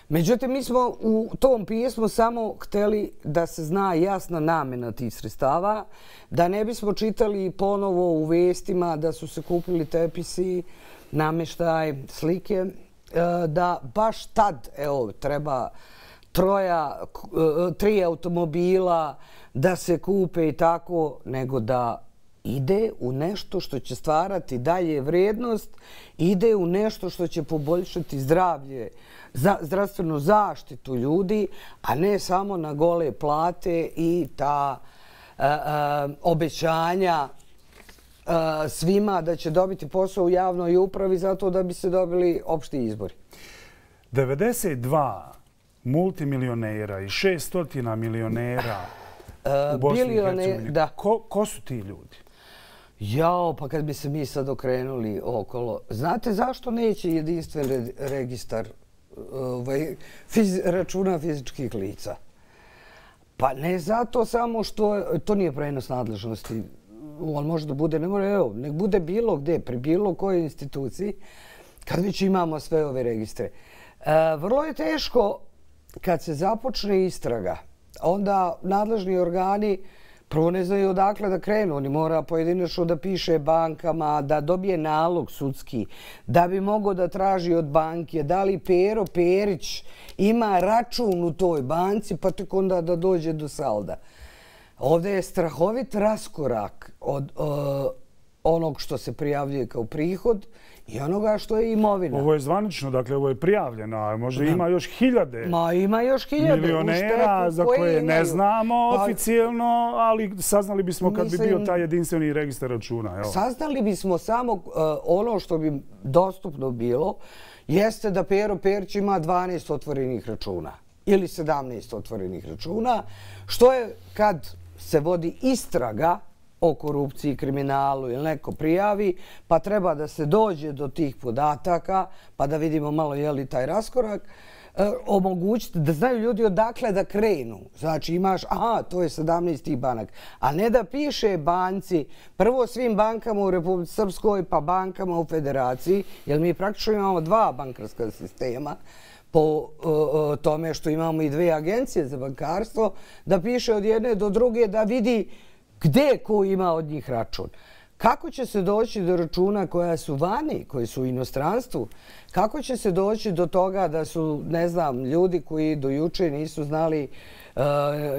Međutim, mi smo u tom pismu samo htjeli da se zna jasna namjena tih sredstava, da ne bismo čitali ponovo u vestima da su se kupili tepisi, namještaj, slike, da baš tad, evo, treba 3 automobila da se kupe i tako, nego da ide u nešto što će stvarati dalje vrijednost, ide u nešto što će poboljšati zdravlje, zdravstvenu zaštitu ljudi, a ne samo na gole plate i ta obećanja svima da će dobiti posao u javnoj upravi zato da bi se dobili opšti izbori. 92 multimilionera i 600 milionera u Bosni i Hercegovini. Ko su ti ljudi? Jao, pa kad bi se mi sad okrenuli okolo. Znate zašto neće jedinstven registar računa fizičkih lica? Pa ne zato samo što to nije prenos nadležnosti. On može da bude, ne mora, evo, nek bude bilo gde, pri bilo kojoj instituciji, kad već imamo sve ove registre. Vrlo je teško kad se započne istraga, onda nadležni organi prvo ne znaju odakle da krenu. Oni mora pojedinačno da piše bankama, da dobije nalog sudski, da bi mogao da traži od banke da li Pero Perić ima račun u toj banci, pa tek onda da dođe do salda. Ovdje je strahovit raskorak od onog što se prijavljuje kao prihod i onoga što je imovina. Ovo je zvanično, dakle ovo je prijavljeno, a možda ima još hiljade milionera za koje ne znamo oficijelno, ali saznali bismo kad bi bio taj jedinstveni registar računa. Saznali bismo samo ono što bi dostupno bilo, jeste da Pero Perić ima 12 otvorenih računa ili 17 otvorenih računa, što je kad se vodi istraga o korupciji, kriminalu ili neko prijavi, pa treba da se dođe do tih podataka, pa da vidimo malo je li taj raskorak, omogućiti da znaju ljudi odakle da krenu. Znači imaš, aha, to je 17 tih banaka. A ne da piše banci, prvo svim bankama u Republici Srpskoj, pa bankama u Federaciji, jer mi praktično imamo 2 bankarska sistema, po tome što imamo i 2 agencije za bankarstvo, da piše od jedne do druge da vidi gdje ko ima od njih račun. Kako će se doći do računa koja su vani, koji su u inostranstvu? Kako će se doći do toga da su, ne znam, ljudi koji do juče nisu znali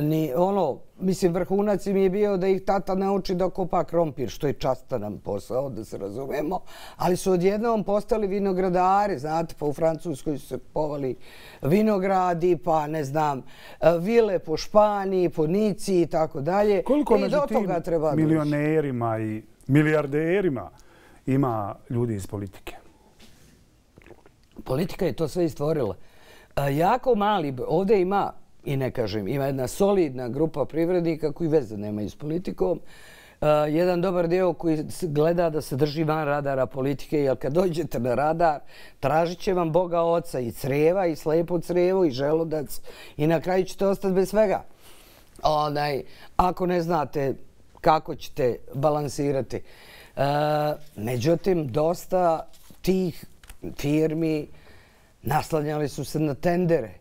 ni ono, mislim, vrhunac im je bio da ih tata nauči da kopa krompir, što je častan nam posao, da se razumemo, ali su odjednom postali vinogradari, znate, pa u Francuskoj su se kupovali vinogradi, pa ne znam, vile po Španiji, po Nici i tako dalje. Koliko među tim milionerima i milijarderima ima ljudi iz politike? Politika je to sve i stvorila. Jako mali, ovdje ima, i ne kažem, ima jedna solidna grupa privrednika koji veze nemaju s politikom. Jedan dobar dio koji gleda da se drži van radara politike, jer kad dođete na radar, tražit će vam Boga Oca i creva, i slepo crevo, i želudac, i na kraju ćete ostati bez svega. Ako ne znate kako ćete balansirati. Međutim, dosta tih firmi naslanjali su se na tendere.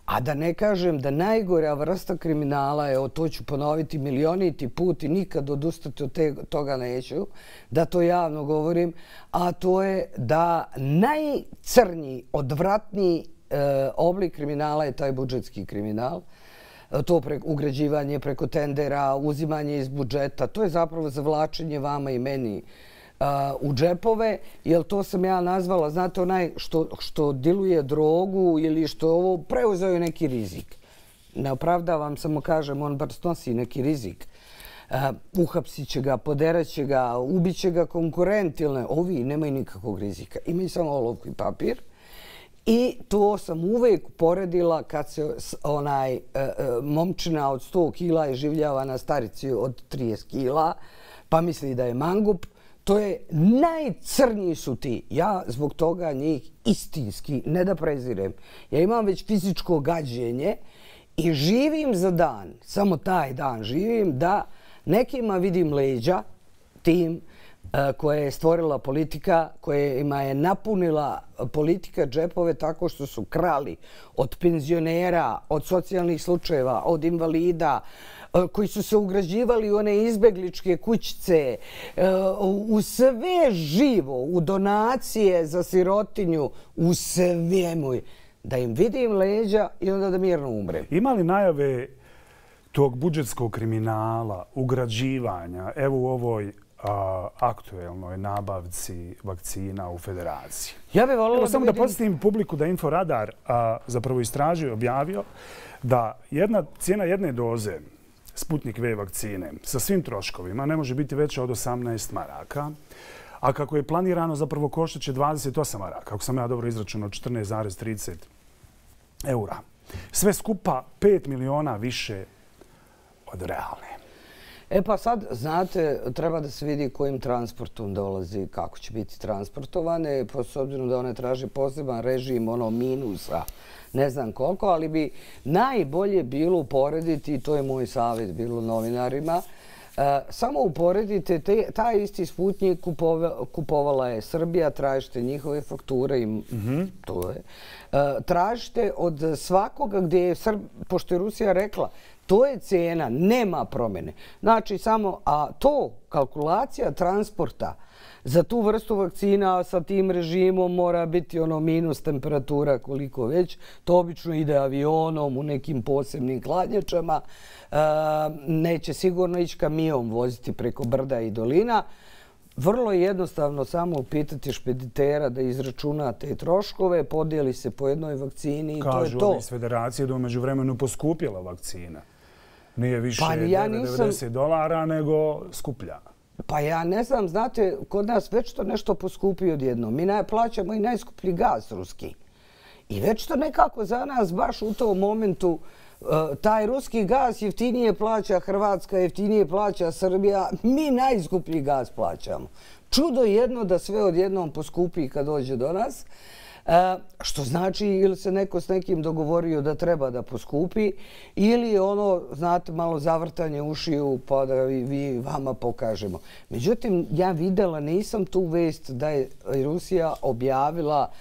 A da ne kažem da najgora vrsta kriminala je, to ću ponoviti milioniti put i nikad odustati od toga neću, da to javno govorim, a to je da najcrnji, odvratniji oblik kriminala je taj budžetski kriminal. To ugrađivanje preko tendera, uzimanje iz budžeta, to je zapravo zavlačenje vama i meni u džepove, jer to sam ja nazvala, znate, onaj što diluje drogu ili što ovo preuzeo je neki rizik. Ne opravdavam, samo kažem, on bar snosi neki rizik. Uhapsit će ga, poderat će ga, ubit će ga konkurent ili ne. Ovi nemaju nikakvog rizika. Imaju samo olovku i papir. I to sam uvijek poredila kad se momčina od 100 kila iživljava na starici od 30 kila, pa misli da je mangup. To je, najcrniji su ti. Ja zbog toga njih istinski, ne da prezirem. Ja imam već fizičko gađenje i živim za dan, samo taj dan živim, da nekima vidim leđa tim koje je stvorila politika, kojima je napunila politika džepove tako što su krali od penzionera, od socijalnih slučajeva, od invalida, koji su se ugrađivali u one izbegličke kućice, u sve živo, u donacije za sirotinju, u svemu. Da im vidim leđa i onda da mirno umrem. Ima li najave tog budžetskog kriminala, ugrađivanja, evo u ovoj aktuelnoj nabavci vakcina u Federaciji? Ja bih volila samo da podsjetim publiku da Inforadar zapravo istražio i objavio da cijena jedne doze Sputnik V vakcine sa svim troškovima ne može biti veća od 18 maraka, a kako je planirano zapravo koštaće 28 maraka, ako sam ja dobro izračunao, 14,30 eura. Sve skupa 5 miliona više od realne. Pa sad, znate, treba da se vidi kojim transportom dolazi, kako će biti transportovane, s obzirom da one traže poseban režim, minusa, ne znam koliko, ali bi najbolje bilo uporediti, i to je moj savjet bilo novinarima, samo uporedite, taj isti Sputnik kupovala je Srbija, tražite njihove fakture i to je. Tražite od svakoga gdje je, pošto je Rusija rekla, to je cijena, nema promjene. Znači samo, a to, kalkulacija transporta za tu vrstu vakcina sa tim režimom mora biti minus temperatura koliko već. To obično ide avionom u nekim posebnim hladnjačama. Neće sigurno ići kamion voziti preko brda i dolina. Vrlo je jednostavno samo upitati špeditera da izračuna te troškove, podijeli se po jednoj vakcini i to je to. Kažu ovi iz Federacije da umeđu vremenu poskupjela vakcina. Nije više $90 nego skuplja. Pa ja ne znam, znate, kod nas već to nešto poskupi odjedno. Mi plaćamo i najskuplji gaz ruski. I već to nekako za nas baš u tom momentu taj ruski gaz jeftinije plaća Hrvatska, jeftinije plaća Srbija. Mi najskuplji gaz plaćamo. Čudo jedno da sve odjednom poskupi kad dođe do nas. Što znači ili se neko s nekim dogovorio da treba da poskupi ili je znate, malo zavrtanje ušiju pa da vama pokažemo. Međutim, ja videla, nisam tu vest da je Rusija objavila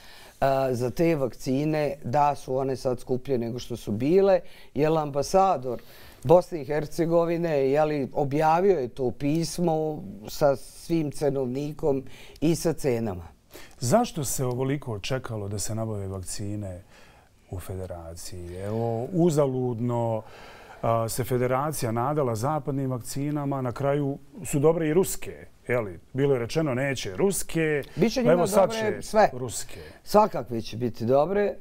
za te vakcine da su one sad skuplje nego što su bile, jer ambasador Bosne i Hercegovine, objavio je to pismo sa svim cenovnikom i sa cenama. Zašto se ovoliko čekalo da se nabave vakcine u federaciji? Evo, uzaludno se federacija nadala zapadnim vakcinama, na kraju su dobre i ruske. Bilo je rečeno neće ruske, evo sad će sve ruske. Svakakve će biti dobre.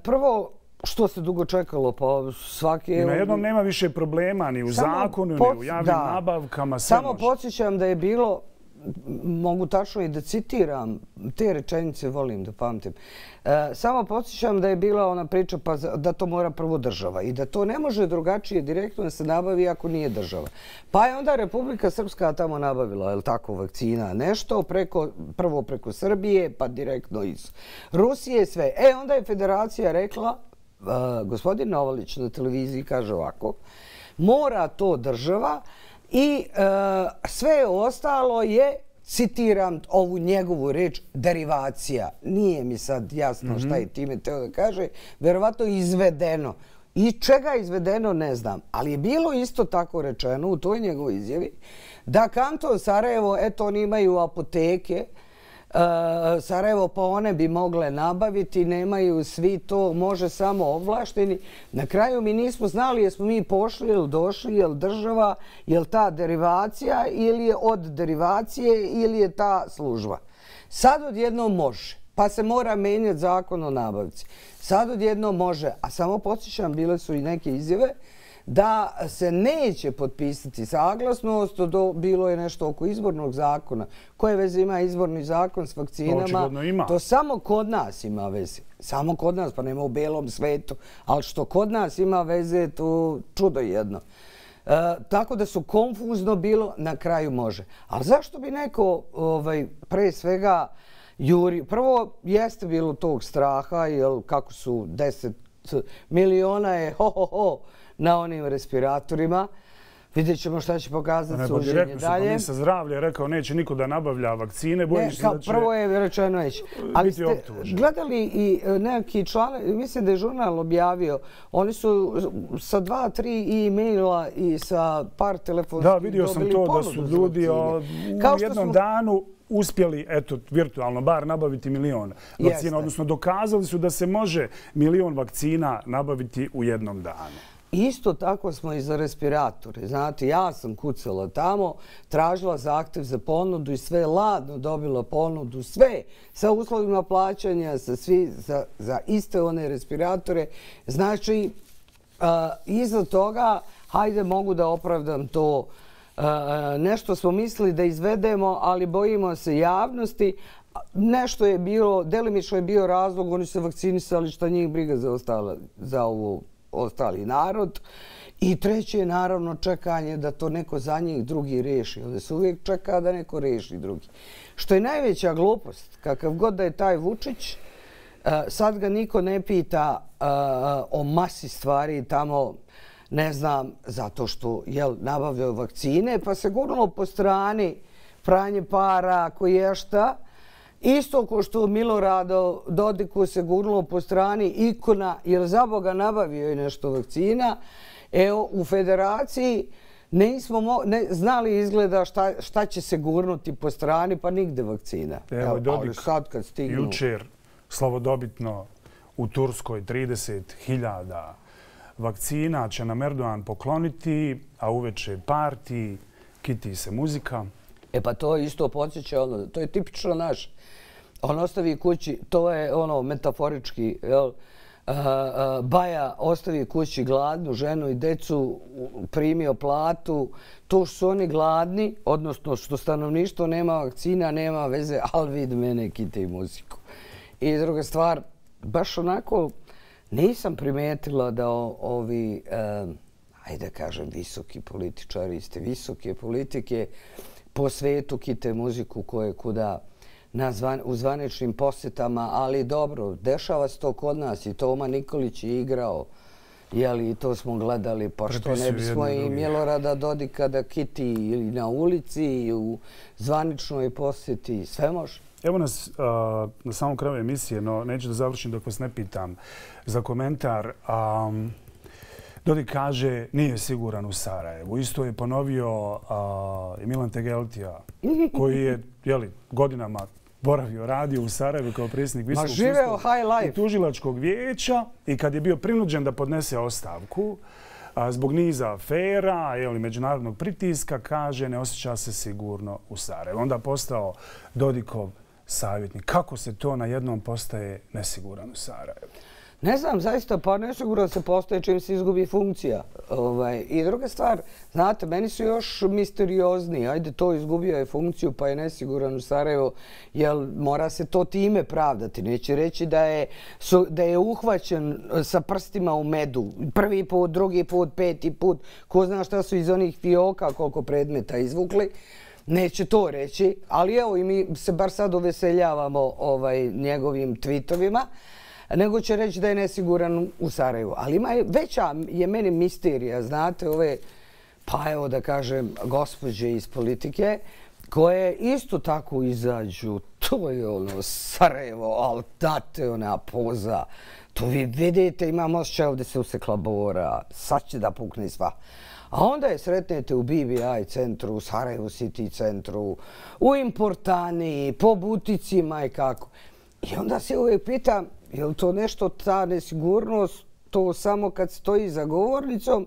Prvo, što se dugo čekalo, pa svaki... Na jednom nema više problema ni u zakonu, ni u javnim nabavkama. Samo podsjećam da je bilo, mogu tačno i da citiram, te rečenice volim da pamtim, samo podsjećam da je bila ona priča pa da to mora prvo država i da to ne može drugačije direktno da se nabavi ako nije država. Pa je onda Republika Srpska tamo nabavila, je li tako, vakcina, nešto, prvo preko Srbije, pa direktno iz Rusije, sve. Onda je federacija rekla, gospodin Novalić na televiziji kaže ovako, mora to država i sve ostalo je, citiram ovu njegovu reč, derivacija. Nije mi sad jasno šta je time teo da kaže, verovatno izvedeno. I čega je izvedeno ne znam, ali je bilo isto tako rečeno u toj njegovoj izjavi da kanton Sarajevo, eto oni imaju apoteke, Sarajevo pa one bi mogle nabaviti, nemaju svi to, može samo ovlašteni. Na kraju mi nismo znali jesmo mi pošli ili došli, je li država, je li ta derivacija ili je od derivacije ili je ta služba. Sad odjednom može, pa se mora menjati zakon o nabavci. Sad odjednom može, a samo podsjećam, bile su i neke izjave, da se neće potpisati saglasnost, bilo je nešto oko izbornog zakona. Koje veze ima izborni zakon s vakcinama? To samo kod nas ima veze. Samo kod nas, pa nema u belom svetu. Ali što kod nas ima veze, to čudo jedno. Tako da su konfuzno bilo, na kraju može. Ali zašto bi neko pre svega juri? Prvo, jeste bilo tog straha, jer kako su 10 miliona je na onim respiratorima. Vidjet ćemo šta će pokazati suđenje dalje. Ministar zdravlja je rekao neće niko da nabavlja vakcine. Prvo je rečeno neće. Ali ste gledali i neki članovi, mislim da je žurnal objavio, oni su sa 2-3 e-maila i sa par telefonskih dobili ponudu za vakcine. Da, vidio sam to da su ljudi u jednom danu uspjeli, eto, virtualno, bar nabaviti 1 milion vakcina, odnosno dokazali su da se može 1 milion vakcina nabaviti u jednom danu. Isto tako smo i za respiratore. Znate, ja sam kucala tamo, tražila zahtev za ponudu i sve ladno dobila ponudu, sve sa uslovima plaćanja, za iste one respiratore. Znači, iza toga, hajde mogu da opravdam to. Nešto smo mislili da izvedemo, ali bojimo se javnosti. Nešto je bilo, delimično je bio razlog, oni se vakcinisali, šta njih briga za ovo ostali narod. I treće je naravno čekanje da to neko za njih drugi reši. Ovdje se uvijek čeka da neko reši drugi. Što je najveća glupost, kakav god da je taj Vučić, sad ga niko ne pita o masi stvari tamo, ne znam, zato što nabavljaju vakcine, pa se gurnulo po strani pranje para, koješta. Isto ko što Miloradu Dodiku se gurnulo po strani ikona, jer za Boga nabavio je nešto vakcina. Evo, u federaciji nismo znali izgleda šta će se gurnuti po strani, pa nigde vakcina. Evo, Dodik jučer slavodobitno u Turskoj 30.000 vakcina će nam Erdogan pokloniti, a uveče parti, kiti se muzika. Pa to isto podsjeća, to je tipično naš. On ostavi kući, to je metaforički, Baja ostavi kući gladnu ženu i decu, primio platu. To što su oni gladni, odnosno što stanovništvo nema vakcina, nema veze, ali vid mene kite i muziku. I druga stvar, baš onako nisam primetila da ovi, ajde kažem, visoki političari, iste visoke politike, po svetu kite muziku koje kuda u zvaničnim posjetama, ali dobro, dešava se to kod nas i Toma Nikolić je igrao, i to smo gledali, pa što ne bismo i Milorada Dodika da kiti ili na ulici i u zvaničnoj posjeti, sve može. Evo nas na samom kraju emisije, no neću da završim dok vas ne pitam za komentar. Dodik kaže nije siguran u Sarajevu. Isto je ponovio i Milan Tegeltija, koji je godinama boravio, radio u Sarajevu kao predsjednik Visokog sudskog i tužilačkog vijeća i kad je bio prinuđen da podnese ostavku zbog niza afera, međunarodnog pritiska, kaže ne osjeća se sigurno u Sarajevu. Onda postao Dodikov savjetnik. Kako se to na jednom postaje nesiguran u Sarajevu? Ne znam, zaista, pa nesigurno se postaje čim se izgubi funkcija. I druga stvar, znate, meni su još misteriozni. Ajde, to izgubio je funkciju pa je nesiguran u Sarajevo, jer mora se to time pravdati. Neće reći da je uhvaćen sa prstima u medu. Prvi put, drugi put, peti put. Ko zna šta su iz onih fioka, koliko predmeta izvukli. Neće to reći, ali evo i mi se bar sad uveseljavamo njegovim tweetovima, nego će reći da je nesiguran u Sarajevu. Ali veća je meni misterija, znate, pa evo da kažem, gospođe iz politike, koje isto tako izađu, to je Sarajevo, ali date ona poza. To vi vidite, imam osjećaj ovdje se usekla bora, sad će da pukne sva. A onda je sretnete u BBI centru, u Sarajevo City centru, u Importani, po buticima i kako. I onda se uvijek pitam, je li to nešto, ta nesigurnost, to samo kad stoji za govornicom,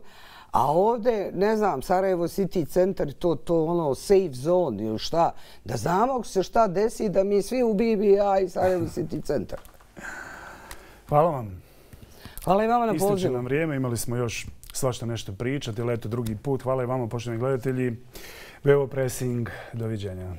a ovdje, ne znam, Sarajevo City centar, to safe zone ili šta, da znamo se šta desi, da mi svi u BBI i Sarajevo City centar. Hvala vam. Hvala i vama na pozivu. Ističe nam vrijeme, imali smo još svašta nešto pričati, ali eto drugi put. Hvala i vama, poštovani gledatelji. VO Pressing, doviđenja.